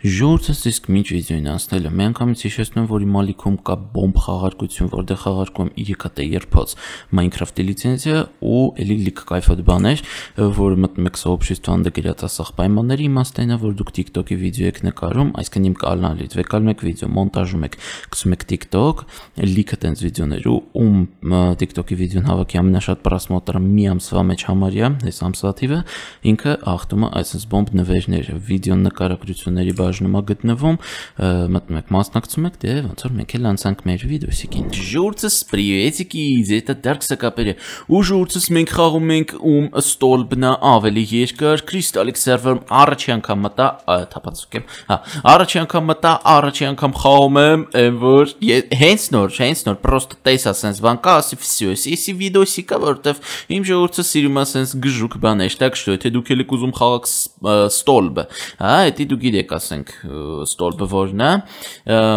Ժողովուրդս իսկ մինչ վիդեոին անցնելը մի անգամից հիշեցնում, որ իմ ալիքում կա բոմբ խաղարկություն, որտեղ խաղարկում 3D երբոց Minecraft-ի լիցենզիա ու էլի լիք կայֆոտ բաներ, որը մտնում եք сообщество անդգրած ասախ պայմանների իմաստն է, որ դուք TikTok-ի վիդեո եք նկարում, այսինքն իմ կանալից վեկալում եք վիդեո, մոնտաժում եք, գցում եք TikTok, լիքը տենց վիդեոներ ու TikTok-ի վիդեոն հավաքի ամենաշատ պրասմոտը մի ամսվա մեջ համարյա, այս ամսվա թիվը ինքը ախտում է այսպես բոմբ նվերներ, видео նկարագրությունների բաժնում է գտնվում, մտնում եք, մասնակցում եք, դե ոնց որ մենք էլ անցանք մեր վիդեոսիկին։ Ժուրցս приветики, это Dark Sakapere։ Ու ժուրցս մենք խաղում ենք ստոլբնա ավելի երկար Crystallic server-ում առաջի անգամ մտա, թափածուկ եմ։ Հա, առաջի անգամ մտա, առաջի անգամ խաղում եմ, որ հենց նոր, просто տեսա sense բան կա, ասի всё, если видосика, որտեվ իմ ժողովուրդը սիրում է sense գժուկ բաներ, так что եթե դուք եք ուզում խաղաք ստոլբը, հա, դա դու գիտեք, ասենք ստոլբը որն է,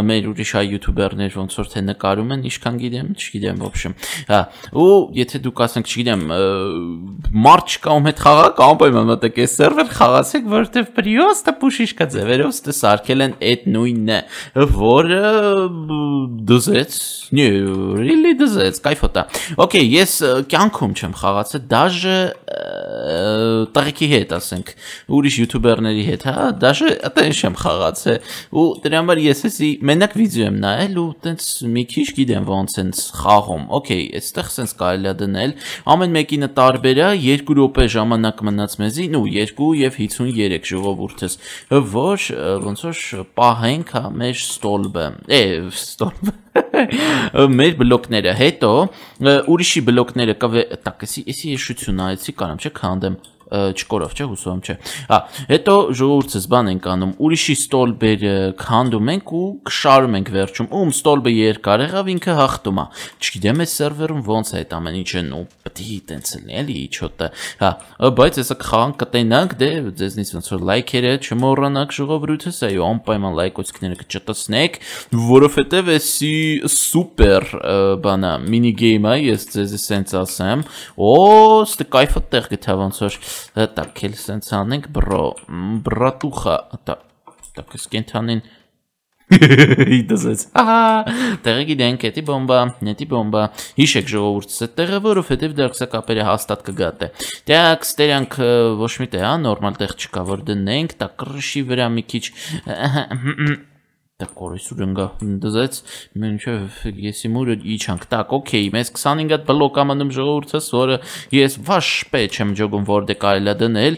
մեր ուրիշ այ յութուբերներ ոնց որ թե ныкարում են, ինչքան գիտեմ, չգիտեմ, в общем, հա, ու եթե դուք ասենք, չգիտեմ, մարդ չկա ում հետ խաղաք, անպայման մտեք այս սերվեր խաղացեք, որտեվ պրիոստը պուշիշկա ձևերով ստե սարքել են այդ նույնն է, որը դզեց, really դզեց, կայֆոտ է։ Okay, ես կյանքում չեմ խաղացել, даже տղեկի հետ, ասենք, ուրիշ յութուբերների հետ, հա, даже այդպես չեմ խաղացել, ու դրա համար ես էսի մենակ վիդեո եմ նայել ու տենց մի քիչ գիտեմ ոնց են խաղում։ Okay, այստեղ sense կարելի է դնել, ամեն մեկինը տարբեր է, 2 րոպե ժամանակ մնաց մեզի, ու 2 եւ 53 ժողովուրդս, որ ոնց որ պահենք հա մեր ստոլբը, մեր բլոկները, հետո ուրիշի բլոկները так, если շություն այցի կարամ չէ քանդեմ չկորով չէ հուսով չէ։ Հա, հետո ժողովուրդս բան ենք անում, ուրիշի ստոլբերը քանդում ենք ու կշարում ենք վերջում, ում ստոլբը երկար եղավ ինքը հաղթում է։ Չգիտեմ այս սերվերում ոնց է այդ ամեն ինչը, ու պետք է տենց լինի, էլի իչոտը։ Հա, բայց հեսա կխաղանք կտենանք, դե ձեզնից ոնց որ լայքերը չմոռանաք ժողովուրդս, այո, անպայման լայքոցիկները կճտացնեք, որովհետև էսի սուպեր բանա մինի գեյմ է, ես ձեզ սենց ասեմ, օ, ստե կայֆը տեղ գտա ոնց որ так, էլ սենց անենք, բրատուխա, так, սկենթանին, իդզեց, տեղը գիտենք, էտի բոմբա, հիշեք ժողովուրդս է տեղը, որովհետև դարքսակապերը հաստատ կգատ է, так, ստերանք ոչ մի տեղ, նորմալ տեղ չկա, որ դնենք, так, կրշի վրա մի քիչ, Так, կորիսուր ընգա, դզեց, մենչև եսի մուրը իչանք, так, okay, մեզ 25 հատ բլոկ ամնում ժողովուրդս, որը ես վաշպե չեմ ջոգում, որ դե կարելի է դնել,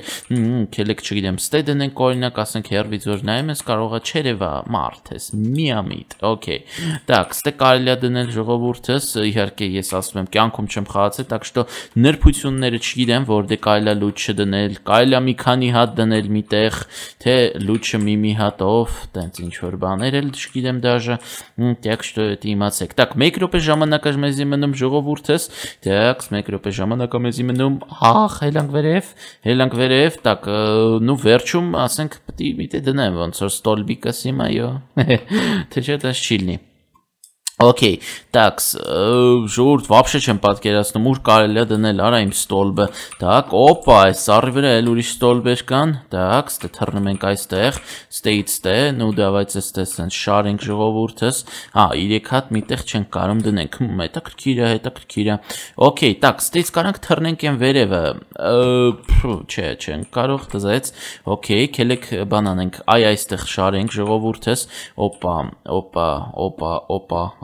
քելեք չգիտեմ, ստե դնենք օրինակ, ասենք հերվից որ նայեմ, ես կարողա չերևա մարդ ես, միամիտ, okay, так, ստե կարելի է դնել ժողովուրդս, իհարկե ես ասում եմ, կյանքում չեմ խաղացել, так что նրբությունները չգիտեմ, որ դե կարելի է լուչ չդնել, կարելի է մի քանի հատ դնել միտեղ, թե լուչը մի հատով, տենց ինչ որ բաներ էլ չգիտեմ դաժե, так что это իմացեք։ Так, 1 րոպե ժամանակը մեզի մնում ժողովուրդս, так, 1 րոպե ժամանակը մեզի մնում, հելանք վերև, так, նու վերջում, ասենք, պետք է միտե դնեմ, ոնց որ ստոլբիկը սիմ այո, թե չէ դա չի լինի։ Okay, так, ժողովուրդ вообще չեմ պատկերացնում, ուր կարելի է դնել արա իմ ստոլբը, так, օպա, այս սարի վրա էլ ուրիշ ստոլբեր կան, так, ստե թռնում ենք այստեղ, ստե, նու դավայց էստե սենց շարենք ժողովուրդս, հա, 3 հատ միտեղ չենք կարում դնենք, հետաքրքիր է, okay, так, ստեից կարանք թռնենք են վերևը, չէ, չենք կարող դզեց, okay, քելեք բան անենք, այստեղ շարենք ժողովուրդս, օպա,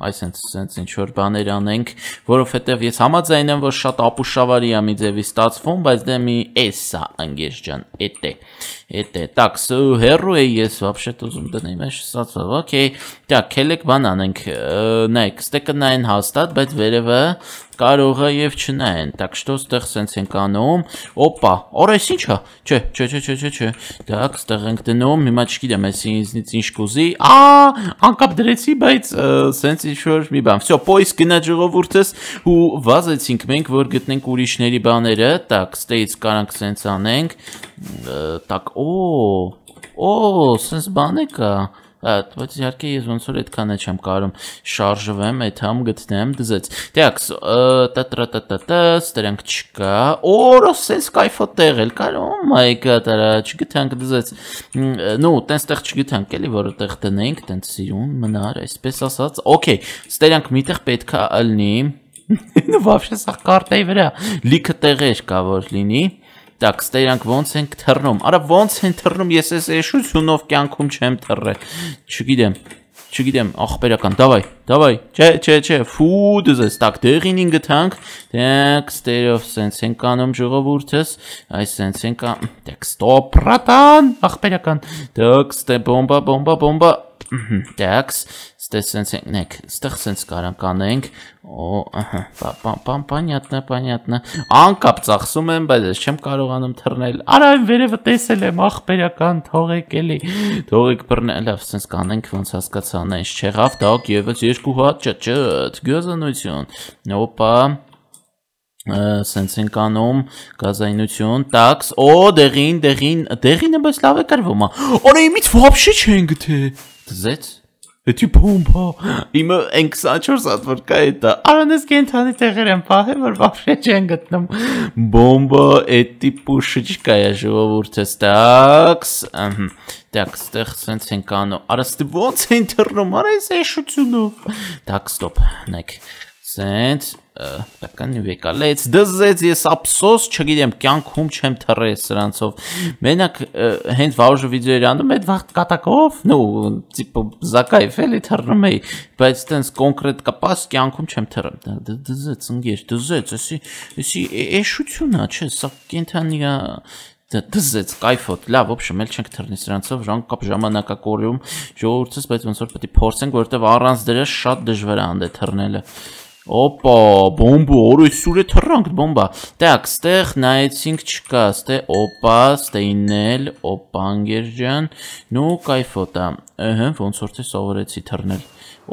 այսենց ինչ-որ բաներ անենք, որովհետև ես համաձայն եմ, որ շատ ապուշավարի է մի ձևի ստացվում, բայց դե մի էսա անգեշ ջան, էտե, так, հերու է ես вообще-то ուզում դնեմ, ես ստացավ, okay, так, քելեք բան անենք, նայեք, ստեկը նայեն հաստատ, բայց վերևը կարող է եւ չնայեն, так что ստեղ սենց ենք անում, օպա, օրես ինչա, չէ, так, ստեղ ենք դնում, հիմա չգիտեմ, ես ինձնից ինչ կուզի, անկապ դրեցի, բայց սենց ինչ-որ մի բան, всё, поиск գնա ժողովուրդս ու վազեցինք մենք, որ գտնենք ուրիշների բաները, так, ստեից կարանք սենց անենք, так, սենց բան է կա, բայց իհարկե ես ոնց որ այդքան է չեմ կարում շարժվեմ, այդ համ գտնեմ, դզեց։ Դեակս, ստրանք չկա։ Օր, սենց կայֆոտ տեղել կար, oh my god, արա, չգտանք դզեց։ Նու, տենստեղ չգտանք էլի, որ այդտեղ դնենք, տենց սիրուն մնար, այսպես ասած։ Okay, ստրանք միտեղ պետք է ալնի։ Նու вообще սա կարտեի վրա լիքը տեղեր կա որ լինի։ Так, ստերանք ոնց ենք թռնում։ Արա ոնց են թռնում, ես այս էշությունով կյանքում չեմ թռել։ Չգիտեմ, ախպերական, давай, չէ, ֆու դզես, так, դեղին ինգտանք, так, ստերով սենց ենք անում ժողովուրդս, այս սենց ենք, так, ստոպ, բրատան, ախպերական, так, ստե բոմբա, так, ստե սենց ենք, ստեղ սենց կարանք անենք, понятно, անկապ ծախսում եմ, բայց ես չեմ կարողանում թռնել, արա այն վերևը տեսել եմ, ախպերական, թողեք էլի, թողեք բռնել, լավ, սենց կանենք, ոնց հասկացա, նենց չեղավ, դակ եվս երկու հատ, ճտ, գյոզանություն, օպա, սենց ենք անում, գազայնություն, տաքս, դեղինը բայց լավ է կարվում, արա իմից վապշե չեն գթե, դզեց, Էդի բոմբա, իմը են 24 հատ որ կա էտա, արանես կենթանի տեղեր եմ պահել, որ վապշե չեն գտնում, բոմբա, էդի պուշը չկա է ժողովուրդս, տաքս, տեղ սենց ենք անում, արա ստի ոնց են թռնում, արա ես էշությունով, տաքս ստոպ, նեք, սենց, Տական վեկալեց, դզեց ես ապսոս չգիտեմ, կյանքում չեմ թռել սրանցով, մենակ հենց վարուժը վիդեոեր անում էդ վաղտ կատակով, տիպը զակայվ էլի թռնում էի, բայց տենց կոնկրետ կպաս կյանքում չեմ թռել, դզեց ընգեր, դզեց, էսի էշություն է, չէ, սա կենթանի դզեց, կայֆոտ, լավ, ոբշեմ, էլ չենք թռնի սրանցով, կապ ժամանակակորյում ժողովուրդս, բայց ոնց որ պետք է փորձենք, որովհետև առանց դրա շատ դժվար է անդե թռնելը Օպա, բոմբա, օրեսուր է թռանք, բոմբա, տակ, ստեղ նայեցինք չկա, ստե, օպա, ստեինել, օպա, անգեր ջան, նու կայֆոտա, ոնց որ թե սովորեցի թռնել,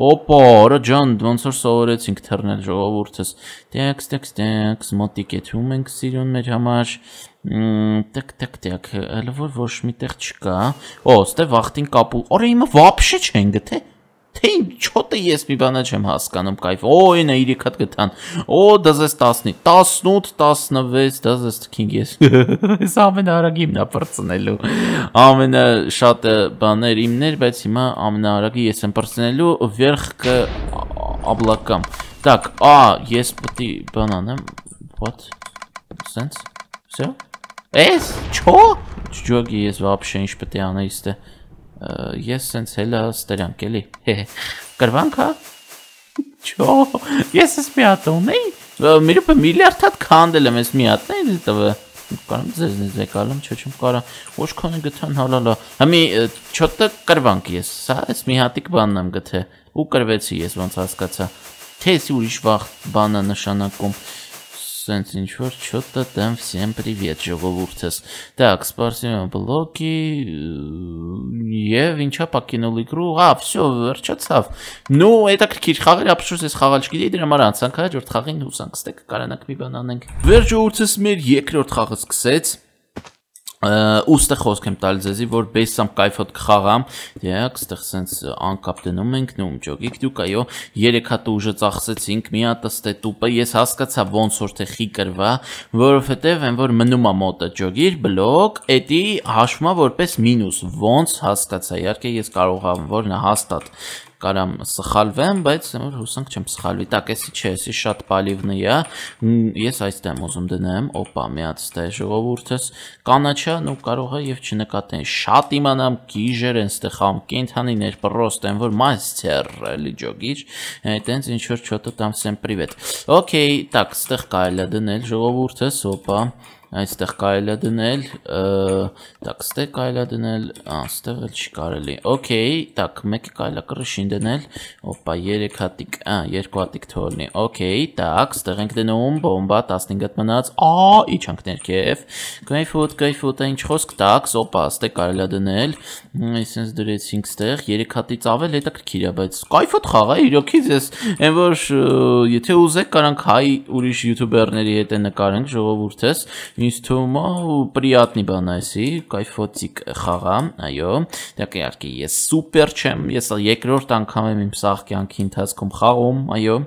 օպա, արա ջան, ոնց որ սովորեցինք թռնել ժողովուրդս, տեքս, մոտիկ եթում ենք սիրուն մեր համար, տեք, հələ որ ոչ միտեղ չկա, ստե վաղտին կապու, արա իմը վապշե չեն գթե, Թե ինչոտ է ես մի բանը չեմ հասկանում կայֆ, ինը 3 հատ գտան, դզես 10, 18, 16, դզես թքինք ես, ես ամենարագ իմն է պրծնելու, ամենաշատ բաներ իմներ, բայց հիմա ամենարագի ես եմ պրծնելու վերխ կը աբլակամ, так, ես պտի բան անեմ, what, sense, все, չո, չջոգի ես վապշե ինչ պտի անեիստե, Ես սենց հելա ստերանք էլի, կրվանք հա, չո, ես ես մի հատ ունեի, միրուպը միլիարդ հատ կանդել եմ ես մի հատն էլի տվը, կարամ ձեզնից եկալում, չոչում կարա, ոչ կոնը գթան հալալա, համի չոտը կրվանք ես, սա ես մի հատիկ բանն եմ գթե, ու կրվեցի ես ոնց հասկացա, թե եսի ուրիշ վաղ բանը նշանակում, Սենց ինչ-որ չոտը դեմ всем привет ժողովուրդս, так, спасибо блоки, և ինչա պակինոլ իկրու, վսյո, վերջացավ, հետաքրքիր խաղեր ապշուս ես խաղալ չգիտեի դրա համար անցանք հաջորդ խաղին հուսանք ստեք կարանակ մի բան անենք, վերջ ժողովուրդս մեր երկրորդ խաղը սկսեց, ուստեղ խոսք եմ տալ ձեզի, որ բեսամ կայֆոտ կխաղամ, դեակ, ստեղ սենց անկապ դնում ենք, ջոգիք դուք, այո, 3 հատ ուժը ծախսեցինք, մի հատ ստե տուպը, ես հասկացա ոնց որ թե խի կրվա, որովհետև են որ մնում է մոտը ջոգիր, բլոկ, էտի հաշվումա որպես մինուս, ոնց հասկացա, իհարկե ես կարող եմ, որ նա հաստատ կարամ սխալվեմ, բայց որ հուսանք չեմ սխալվի, так, էսի չէ, էսի շատ պալիվնի է, ես այստեղ եմ ուզում դնեմ, օպա, մի հատ ստե ժողովուրդս, կանաչա, կարող է և չնկատեն, շատ իմանամ գիժեր են ստեղ խամ, կենթանիներ, պրոստ են, որ մայստեր, էլի ջոգիչ, տենց ինչ-որ չոտը տամ սեմ պրիվետ, օքեյ, так, ստեղ կարել է դնել ժողովուրդս, օպա, այստեղ կարել է դնել, так, ստեղ կարել է դնել, ստեղ էլ չի կարելի, օքեյ, так, մեկը կարել է կրշին դնել, օպա, 3 հատիկ, 2 հատիկ թորնի, օքեյ, так, ստեղ ենք դնում, բոմբա, 15 հատ մնաց, իչանք ներքև, կայֆոտ, ինչ խոսք, так, օպա, ստեղ կարել է դնել, այսինց դրեցինք ստեղ, 3 հատից ավել հետաքրքիր է, բայց կայֆոտ խաղ է, իրոքից ես, են որ եթե ուզեք կարանք հայ ուրիշ յութուբերների հետ է նկարենք ժողովուրդս, ինձ թվում է приятный բան է էսի, կայֆոցիկ խաղա, այո, դեռ իհարկե ես սուպեր չեմ, ես երկրորդ անգամ եմ իմ սաղ կյանքի ընթացքում խաղում, այո,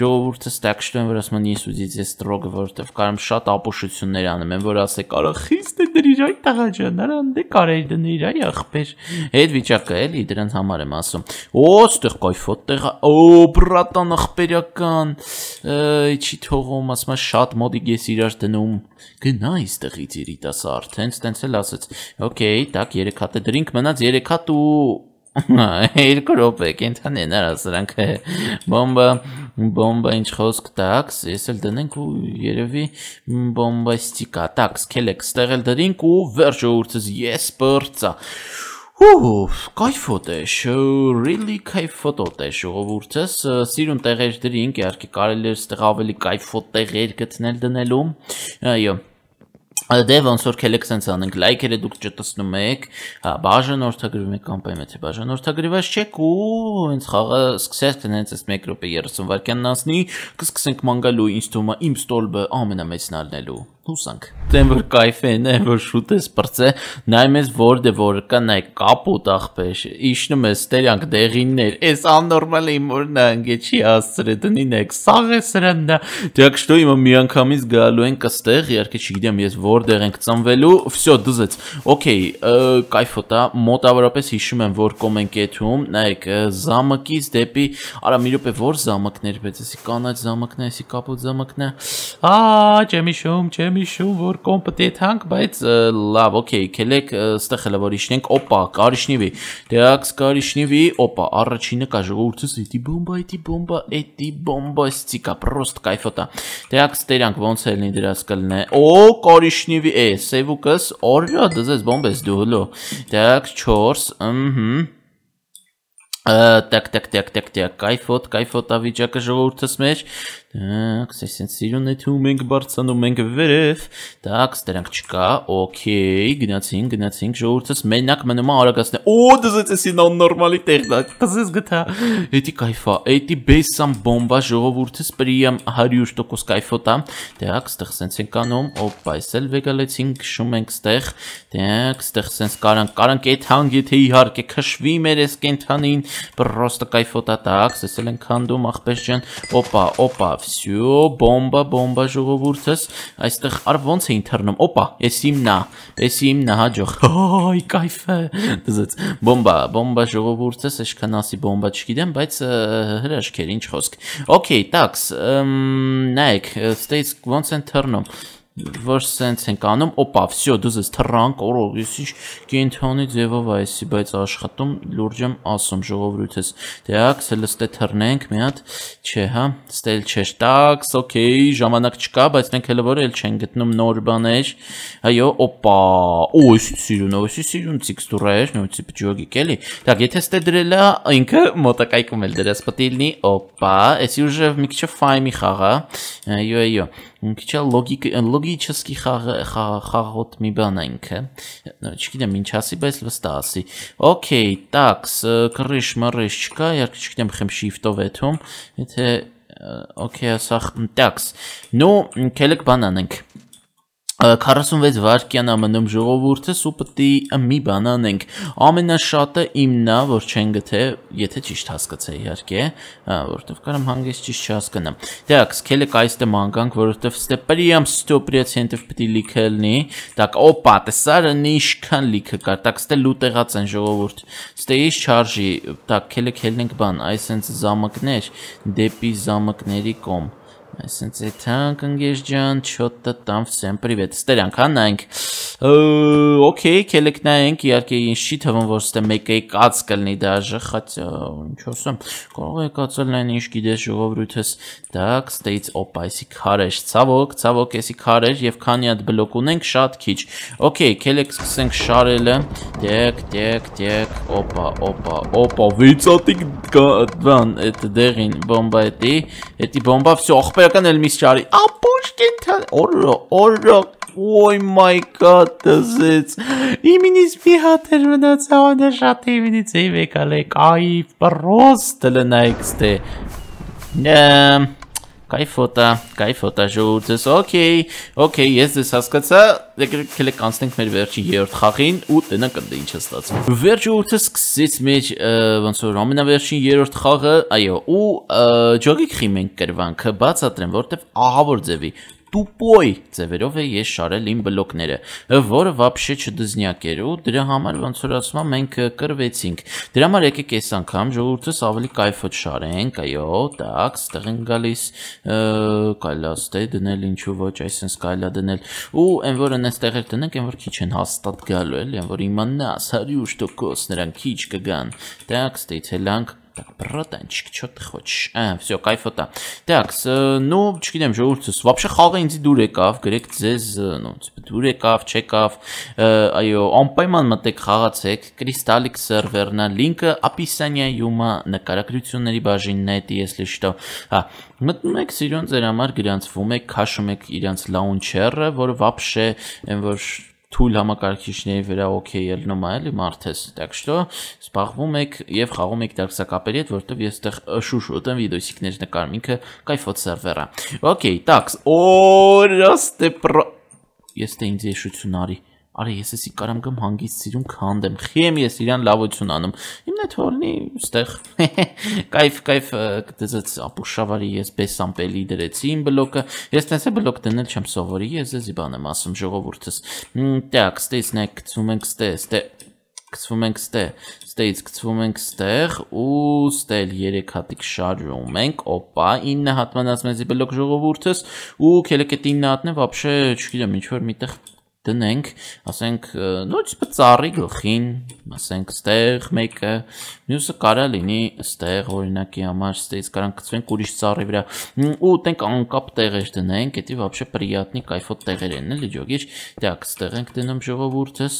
ժողովուրդը так что եմ որ ասում են ես ուզից ես ստրոգը որտեվ կարամ շատ ապուշություններ անեմ եմ որ ասեք արա խիստ է դրիր այ տղա ջան արա դե կարելի դնիր այ ախպեր այդ վիճակը էլի դրանց համար եմ ասում օ ստեղ կայֆոտ տեղա օ բրատան ախպերական չի թողում ասում շատ մոդիկ ես իրար դնում գնա այստեղից երիտասարդ հենց տենց էլ ասեց օքեյ так 3 հատ է դրինք մնաց 3 հատ ու երկու րոպե կենթանեն արա սրանք բոմբա ինչ խոսք տաքս ես էլ դնենք ու երևի բոմբաստիկա տաքս քելեք ստեղ էլ դրինք ու վերջը ուրցս ես բրծա կայֆոտ է really կայֆոտ է ժողովուրդս սիրուն տեղեր դրինք իհարկե կարելի է ստեղ ավելի կայֆոտ տեղեր գտնել դնելու այո Դե ոնց որ քելեք սենց անենք լայքերը դուք չտեսնում եք, բաժանորդագրվում եք կամպայում եթե բաժանորդագրված չեք ու հենց խաղը սկսենք հենց այս 1 րոպե 30 վայրկյանն անցնի, կսկսենք մանգալու ինձ թվում է իմ ստոլբը ամենամեծն ալնելու։ Հուսանք։ Դեմ որ կայֆեն է, որ շուտ ես բրծե, նայում ես որտե որ կա նայ կապուտ ախպեր, իշնում ես տերյանք դեղիններ, էս աննորմալ է որ նա ընկե չի ասցրե դնինեք, սաղ է սրանա։ Դեք что իմը միանգամից գալու են կստեղ, իհարկե չգիտեմ ես որտեղ ենք ծնվելու, всё դզեց։ Okay, կայֆոտա, մոտավորապես հիշում եմ որ կոմենտ կեթում, նայեք զամկից դեպի, արա մի րոպե որ զամկներ, բայց էսի կանաչ զամկն է, էսի կապուտ զամկն է։ Չեմ իշում, որ կոմպետենտ բայց լավ, օքեյ, քելեք ստեղ հələ որ իշնենք, օպա, կարիշնիվի, դեաքս կարիշնիվի, օպա, առաջինը կա ժողովուրդս, էդի բոմբաստիկա, պրոստ կայֆոտա, դեաքս տերանք ոնց է լինի դրած կլնե, օ, կարիշնիվի, սևուկս, օրյա, դզես բոմբես դու հլո, դեաքս 4, տակ, կայֆոտ ավիճակը ժողովուրդս մեջ, Սենց սիրուն է թում ենք բարձանում ենք վերև, տակ ստերանք չկա, օքեյ, գնացինք ժողորդս, մենակ մնում է արագասն է, օ, դզեց էսին աննորմալի տեղ, տզես գտա, էտի կայվա, էտի բեսամ բոմբա ժողովորդս պրիամ 100% կայվոտա, տակ ստեղ սենց ենք անում, օպա, ես էլ վեգալեցինք, շում ենք ստեղ, տակ ստեղ սենց կարանք էտ հանգ եթե իհարկ է կշվի մեր ես կենթանին, պրոստը կայվոտա, տակ, ես էլ ենք հանդում աղպես ջան, օպա, Всё, բոմբա ժողովուրդս, այստեղ առ ոնց էին թռնում, օպա, ես իմնա, հաջող, այ կայֆ է, դզեց, բոմբա ժողովուրդս, աշքան ասի բոմբա չգիտեմ, բայց հրաշքեր, ինչ խոսք, օքեյ, տաքս, նայեք, ստեից ոնց են թռնում, որ սենց ենք անում, օպա, всё, դուզես թռանք, օրով, ես ինչ կենթանի ձևով այսի, բայց աշխատում լուրջ եմ ասում ժողովրդս, դեակ, սել ստե թռնենք, մի հատ, չէ, հա, ստել չէր, տաքս, օքեյ, ժամանակ չկա, բայց մենք հələ որ էլ չեն գտնում նոր բաներ, այո, օպա, օ, էսի սիրուն տեքստուրա էր, նույնիսկ ջոգիկ էլի, так, եթե ստե դրելա, ինքը մոտակայքում էլ դրած պետք է լինի, օպա, էսի ուժը մի քիչ ֆայմի խաղա, այո, Քիչ լոգիչեսկի խաղոտ մի բան է ինքը, չգիտեմ ինչ ասի, բայց վստահ ասի, օքեյ, տաքս, կռիշ մռիշ չկա, իհարկե չգիտեմ խեմ շիֆտով եթում, եթե, օքեյ, ասախ, տաքս, նու կելեք բան անենք, 46 վարկյան ամնում ժողովուրդս ու պտի մի բան անենք, ամենաշատը իմնա, որ չեն գթե, եթե ճիշտ հասկացե իհարկե, որտև կարամ հանգես ճիշտ չհասկանամ, դեաքս կելեք այստե մանգանք, որովհետև ստե պրիամ 100% պտի լիքը լնի, տակ օպա, տեսարը նիշքան լիքը կար, տակ ստե լուտեղած են ժողովուրդ, ստե իշ չարժի, տակ կելեք հելնենք բան, այսենց զամկներ, դեպի զամկների կոմ, Այսինքն ցեթանք ընկեր ջան, չոտը տամ всем привет։ Ստերանք հանանք։ Okay, քելեք նայենք, իհարկե ինձ չի թվում, որ ստե մեկը կած կլինի դաժե, хотя ինչ ասեմ, կարող է կածել այն ինչ գիտես ժողովրդս։ Так, ստեից օպայսի քարեր, ցավոք, էսի քարեր եւ քանի հատ բլոկ ունենք, շատ քիչ։ Okay, քելեք սկսենք շարելը։ Տեք, օպա, վիծատիկ բան, այդ դեղին բոմբա էտի բոմբա всё ախպերական էլ միս չարի ապոշկենթան օրո oh my god դզեց իմինից մի հատ էր մնացավ շատ իմինից էի վեկալ է կայֆ պրոստ լնայք ստե կայֆոտա ժողովուրդս, օքեյ, ես ձեզ հասկացա, եկեք անցնենք մեր վերջի երրորդ խաղին ու տնանք ընդ ինչ է ստացվում։ Վերջ ժողովուրդս սկսեց մեր ոնց որ ամենավերջին երրորդ խաղը, այո, ու ջոգիկ խիմենք կրվանքը բացատրեմ, որտեվ ահավոր ձևի տուպոյ ձևերով է ես շարել իմ բլոկները, որը вообще չդզնյակ էր ու դրա համար ոնց որ ասում եմ մենք կրվեցինք։ Դրա համար եկեք այս անգամ ժողովուրդս ավելի կայֆոտ շարենք, այո, տակ, ստեղ են գալիս, կայլա ստե դնել ինչու ոչ, այսպես կայլա դնել ու այն որ այնտեղ էլ տնենք, այն որ քիչ են հաստատ գալու էլի, այն որ իմանաս 100% նրանք քիչ կգան։ Տակ, ստե ցելանք Так, братанчик, что ты хочешь? Все, кайфота. Так, ну, չգիտեմ, ժողովուրդս, вообще խաղը ինձ դուր եկավ, գրեք ձեզ, ну, դուր եկավ, չեկավ, այո, անպայման մտեք խաղացեք, Crystalic server-նա, լինքը описание-ում է, նկարագրությունների բաժինն է, если что։ Հա, մտնում եք սիրուն ձեր համար գրանցվում եք, քաշում եք իրանց launcher-ը, որը вообще, այն որ թույլ համակարգիչների վրա օքեյ ելնում է էլի մարդես, так что զբաղվում եք եւ խաղում եք դարսակապերի հետ, որտեվ ես այդտեղ շուշուտ եմ վիդեոսիկներ նկարում, ինքը կայֆոտ սերվեր է։ Okay, так, օրաստե ես դե ինձ եշություն արի։ Արի ես էսի կարամ գամ հանգիստ սիրուն քանդեմ, խիեմ ես իրան լավություն անում։ Իմն է թորնի ստեղ։ Կայֆ դեզած ապուշավարի ես բեսամպելի դրեցի իմ բլոկը։ Ես տենսե բլոկ դնել չեմ սովորի, ես էսի բան եմ ասում ժողովուրդս։ Так, ստեյցնեք գցում ենք գցվում ենք ստեյց գցվում ենք ստեղ ու ստել 3 հատիկ շարժում ենք, օպա 9 հատման ասում եմ բլոկ ժողովուրդս ու քելեք այդ 9 հատն է вообще չգիտեմ ինչ որ միտեղ դնենք, ասենք, նույն ծառի գլխին, ասենք, ստեղ մեկը, մյուսը կարա լինի ստեղ, օրինակի համար, ստեղից կարան կծվենք ուրիշ ծառի վրա, ու տենք անկապ տեղեր դնենք, էդի вообще պրիատնի կայֆոտ տեղեր են, էլի ջոգիչ, так, ստեղ ենք դնում ժողովուրդս,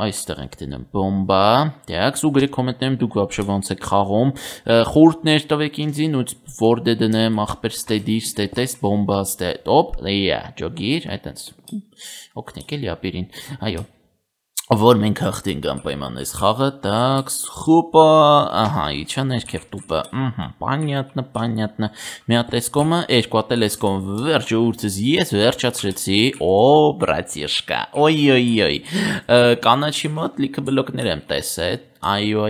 այստեղ ենք դնում բոմբա, так, ու գրեք կոմենտներում դուք вообще ոնց եք խաղում, խորհուրդներ տվեք ինձին, ու որդ է դնեմ, ախպեր ստեդիր, ստետես, բոմբա, ստետոպ, ջոգիր, այդպես օգնեք էլի ապիրին, այո, որ մենք հաղթենք անպայման այս խաղը, так, խուպա, ահա, իչա ներքև տուպը, понятно, մի հատ էսկոմը, երկու հատ էլ էսկոմ, վերջ ուրցս ես վերջացրեցի, բրատիշկա, օյ, կանաչի մոտ լիքը բլոկներ եմ տեսել, այո,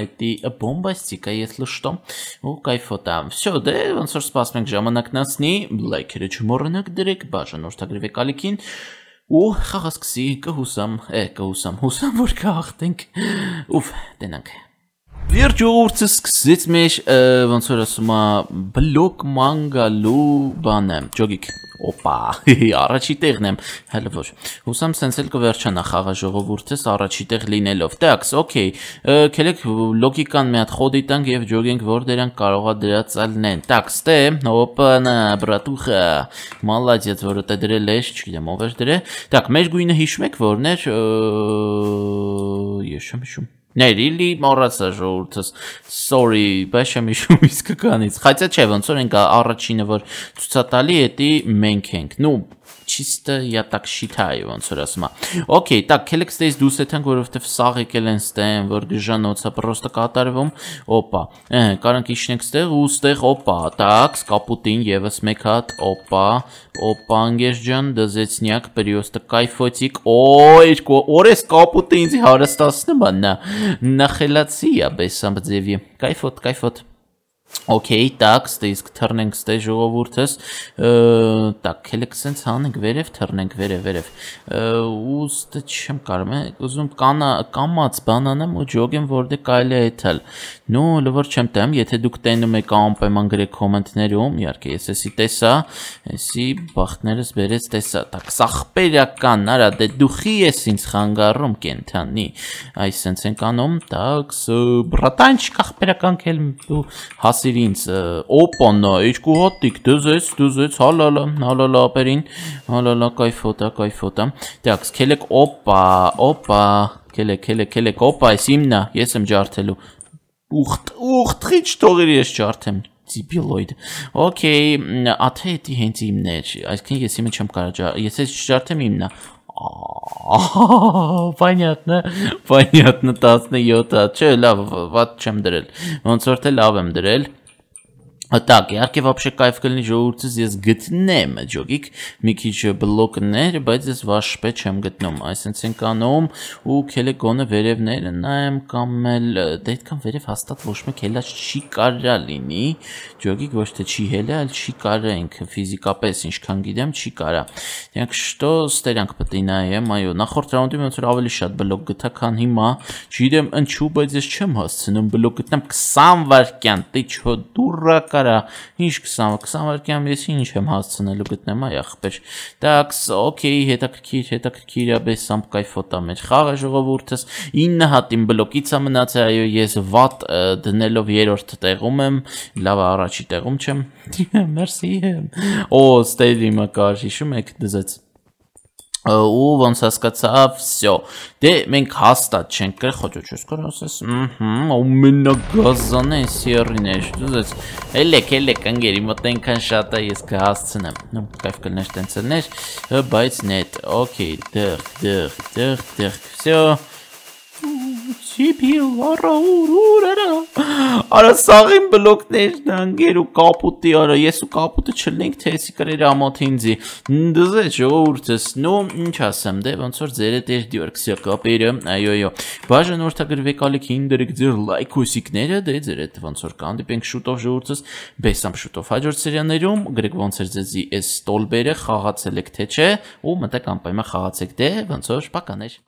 էդի բոմբաստիկա если что, ու կայֆոտա, всё, դե ոնց որ սպասում ենք ժամանակն անցնի, լայքերը չմոռանաք դրեք, բաժանորդագրվեք ալիքին, ու խաղը սկսի կհուսամ, որ կհաղթենք, ուֆ, տենանք։ Վերջ ժողովուրդս սկսեց մեր, ոնց որ ասում է, բլոկ մանգալու բանը, ջոգիկ, օպա, առաջի տեղն եմ, հələ որ, հուսամ սենց էլ կվերջանա խաղը ժողովուրդս առաջի տեղ լինելով, տաքս, օքեյ, կելեք լոգիկան մի հատ խոդի տանք և ջոգենք, որ դրանք կարողա դրածալնեն, տաքս, տե, օպանա, բրատուխա, մալադյաց, որը տե դրել ես, չգիտեմ, ով էր դրե, տակ, մեր գույնը հիշում եք, որն էր, ես չեմ հիշում, Really մոռացա ժողովուրդս, sorry, բայց չեմ հիշում իսկականից, խայցա չէ, ոնց որ ենք առաջինը, որ ցուցատալի էդի մենք ենք, նու, чисто я так считаю, ոնց որ ասում է, okay, так, քելեք ստեյց դուս եթանք, որովհետև սաղ եկել են ստեն, որ գժանոցը պրոստը կատարվում, օպա, կարանք իշնենք ստեղ ու ստեղ, օպա, так, կապուտին եվս մեկ հատ, օպա, անգեշ ջան, դզեցնյակ, պրիոստը կայֆոցիկ, օրես կապուտը ինձի հարստասնում աննա, նախելացի է բեսամբ ձևի, կայֆոտ, Okay, так, ստեյս կթրնենք ստե ժողովուրդս, так, քելեք սենց հանենք վերև, թրնենք վերև, ուստը չեմ կարում է, ուզում կամած բանանեմ ու ջոգեմ, որ դե կայլ է եթել, նու լվոր չեմ տեմ, եթե դուք տենում եք անպայման գրեք կոմենտներում, իարկե ես էսի տեսա, էսի բախտներս բերեց տեսա, так, սախպերական, արա, դե դուխի ես ինձ խանգարում կենթանի, այս սենց ենք անում, так, բրատանչիկ ախպերական կել հասիր ինձ, օպանա, իչկու հատիկ, դզեց, հալալա ապերին, հալալա, կայֆոտա, так, կելեք օպա, կելեք, օպա, ես իմնա, ես եմ ջարդելու, ուղթղիչ թողերի ես ջարդեմ, Դիբիլոյդ, օքեյ, աթե էդի հենց իմն է, այսքան ես իմը չեմ կարա, ես ես ջարդեմ իմնա, Понятно, 17, չէ, լավ, վատ չեմ դրել, ոնց որ թե լավ եմ դրել, Так, իհարկե вообще կայֆ կլինի ժողովուրդս ես գտնեմ ջոգիկ մի քիչ բլոկներ, բայց ես վաշպե չեմ գտնում, այսինքն ենք անում ու քելե գոնը վերևները նայեմ կամ էլ դե այդքան վերև հաստատ ոչ մեկ հելած չի կարա լինի, ջոգիկ ոչ թե չի հելա, այլ չի կարա ինքը ֆիզիկապես ինչքան գիտեմ չի կարա։ Դրանք что ստերանք պետք է նայեմ, այո, նախորդ ռաունդում ոնց որ ավելի շատ բլոկ գտա, քան հիմա, չգիտեմ ինչու, բայց ես չեմ հասցնում բլոկ գտնեմ 20 վայրկյան, դե չո դուրա Կարա, ինչ 20 վայրկյան ես ինչ եմ հասցնելու գտնեմ այ ախպեր։ Так, օքեյ, հետաքրքիր է, բես սամ կայֆոտա մեջ խաղը ժողովուրդս 9 հատ իմ բլոկից է մնացել, այո, ես վատ դնելով երրորդ տեղում եմ, լավ առաջի տեղում չեմ։ Մերսի։ Օ, ստեյլիմը կար, հիշում եք դզեց։ Ու ոնց հասկացա, всё։ Դե մենք հաստատ չենք կրել, խոճոճ կար ասես, ամենագազանը սերիներ, դուզես, ելեք անգերի, մոտ այնքան շատ է ես կհասցնեմ, նու կայֆ կլներ տենցելներ, բայց նետ, օքեյ, դեղ, всё։ Սիպիլ, արա սաղին բլոկներն անգեր ու կապուտի, արա ես ու կապուտը չլենք թե եսի կրեր ամոթ ինձի, դզե ժողովուրդս, նո ինչ ասեմ, դե ոնց որ ձեր հետ էր դյորքսյա կապերը, այո, բաժան որդագրվեք ալիքին դրեք ձեր լայքուսիկները, դե ձեր հետ ոնց որ կանդիպենք շուտով ժողովուրդս, բեսամ շուտով հաջորդ սերիաներում, գրեք ոնց էր ձեզի այս ստոլբերը խաղացել եք թե չէ, ու մտեք անպայման խաղացեք, դե ոնց որ պականեր։